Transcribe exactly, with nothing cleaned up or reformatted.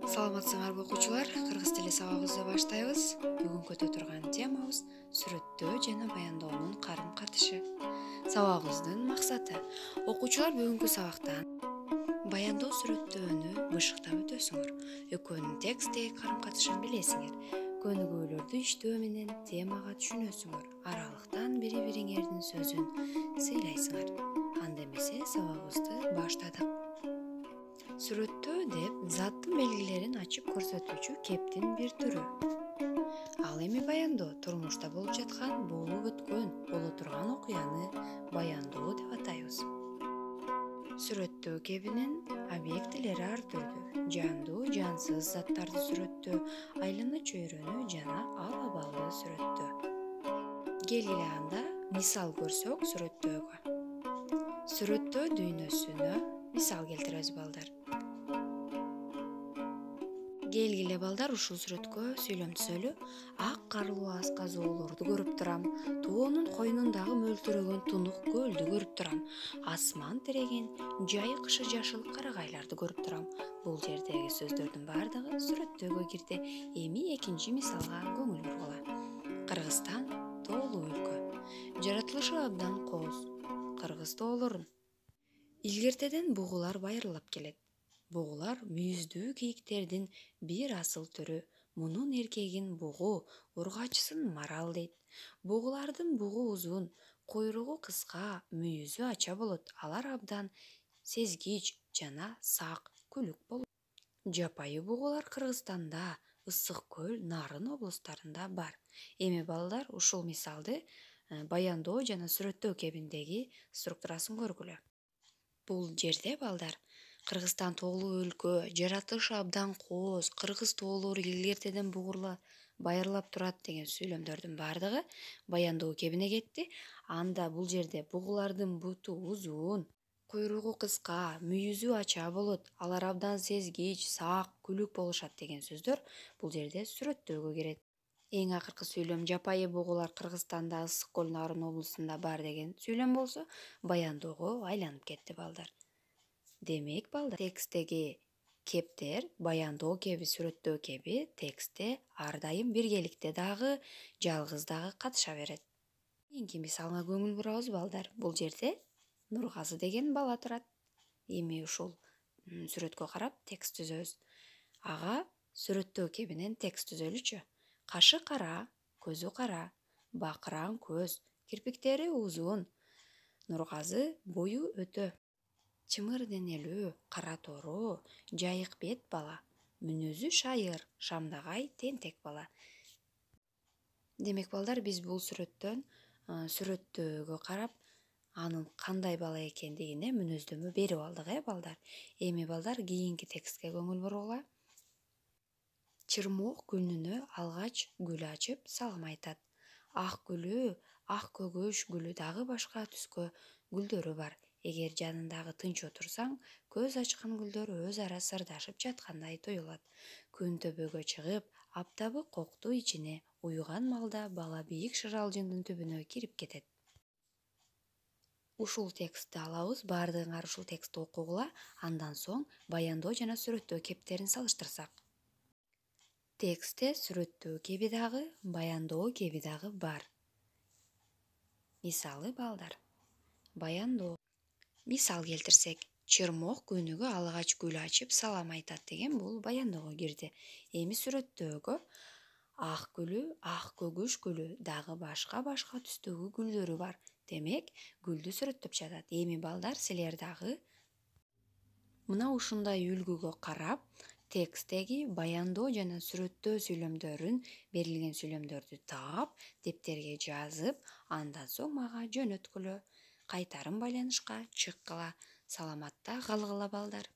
Саламатсыңарбы окуучулар? Кыргыз тили сабагыбызды баштайбыз. Бүгүнкү өтө турган темабыз сүрөттөө жана баянdoонун карым-катышы. Сабагыбыздын максаты: окуучулар бүгүнкү сабактан баяндоо сүрөттөөнү бышыктап өтөсүңөр. Экөөнүн тексттеги карым-катышын билесиңер. Көнүгүүлөрдү иштөө менен темага түшүнөсүңөр. Аралыктан бири-бириңердин сөзүн сыйлайсыңар. Анда эмесе сабагыбызды баштадык. Сүрөттөө деп заттын белгилерин ачып көрсөтүүчү кептин бир түрү. Ал эми баяндоо турмушта болуп жаткан, болуп өткөн, боло турган окуяны баяндоо деп атайбыз. Сүрөттөө кебинин объектилери ар түрдүү: жандуу, жансыз заттарды сүрөттөө, айлана-чөйрөнү жана ал-абалды сүрөттөө. Келгиле анда мисал көрсөк сүрөттөөгө. Сүрөттөө дүйнөсүнө мисал келтиребиз балдар. Келгиле балдар, ушул сүрөткө сүйлөм түзөлү. Ак карлуу асказоолорду көрүп турам. Тоонун койнундагы мөлтүрөгөн тунук көлдү көрүп турам. Асман тиреген жайкышы жашыл карагайларды көрүп турам. Бул жердеги сөздөрдүн баардыгы сүрөттөөгө кирди. Эми экинчи мисалга көңүл бургула. Кыргызстан тоолуу өлкө. Жаратылышы абдан кооз. Кыргыз тоолорун илгертеден бугулар байырлап келет. Бугулар мүйүздүү кийиктердин бир асыл түрү. Мунун эркегин бугу, ургачысын марал дейт. Бугулардын бугу узун, куйругу кыска, мүйүзү ача болот. Алар абдан сезгич жана сак, күлүк болот. Жапайы бугулар Кыргызстанда, Ысык көл, Нарын облустарында бар. Эми балдар, ушул мисалды баяндоо жана сүрөттөө кебиндеги структурасын көргүлө. Бул жерде балдар Кыргызстан тоолуу өлкө, жаратылышы абдан кооз, кыргыз тоолору илгертеден бугурлар байырлап турат деген сүйлөмдөрдүн баардыгы баяндоо кебине кетти. Анда бул жерде бугулардын буту узун, куйругу кыска, мүйүзү ача болот. Алар абдан сезгич, сак, күлүк болушат деген сөздөр бул жерде сүрөттөөгө кирет. Эң акыркы сүйлөм жапайы бугулар Кыргызстанда, Ысык көл, Нарын облусунда бар деген сүйлөм болсо баяндоого айланып кетти балдар. Демек балдар, тексттеги кептер баяндоо кеби, сүрөттөө кеби текстте ар дайым биргеликте дагы, жалгыз дагы катыша берет. Кийинки мисалга көңүл бурабыз балдар. Бул жерде Нургазы деген бала турат. Эми ушул сүрөткө карап текст түзөбүз. Ага сүрөттөө кебинен текст түзөлүчү. Кашы кара, көзү кара, бакыраң көз, кирпиктери узун. Нургазы бою өтө чымыр денелүү, кара тору, жайык бет бала. Мүнөзү шайыр, шамдагай, тентек бала. Демек балдар, биз бул сүрөттөн сүрөттөөгө карап анын кандай бала экендигине мүнөздөмө берип алдык, э балдар. Эми балдар, кийинки текстке көңүл бургула. Чырмоок гүлүнө алгач гүл ачып салам айтат. Ак гүлү, ак көгүш гүлү дагы башка түскө гүлдөрү бар. Эгер жанындагы тынч отурсаң, көз ачкан гүлдөр өз ара сырдашып жаткандай туюлат. Күн төбөгө чыгып, аптабы кокту ичине. Уюган малда бала бийик шыралжыңдын түбүнө кирип кетет. Ушул текстти алабыз, баардыгыңар ушул текстти окугула. Андан соң баяндоо жана сүрөттөө кептерин салыштырсак. Текстте сүрөттөө кеби дагы, баяндоо кеби дагы бар. Мисалы балдар. Баяндоо. Мисал келтирсек, чырмоок күнүгө алгач гүл ачып салам айтат деген бул баяндоого кирди. Эми сүрөттөөгө ак гүлү, ак көгүш гүлү дагы башка-башка түстөгү гүлдөрү бар. Демек, гүлдү сүрөттөп жатат. Эми балдар, силер дагы мына ушундай үлгүгө карап, тексттеги баяндоо жана сүрөттөө сүйлөмдөрүн, берилген сүйлөмдөрдү таап, дептерге жазып, андан соң мага жөнөткүлө. Кайтарым байланышка чыккыла. Саламатта калгыла балдар.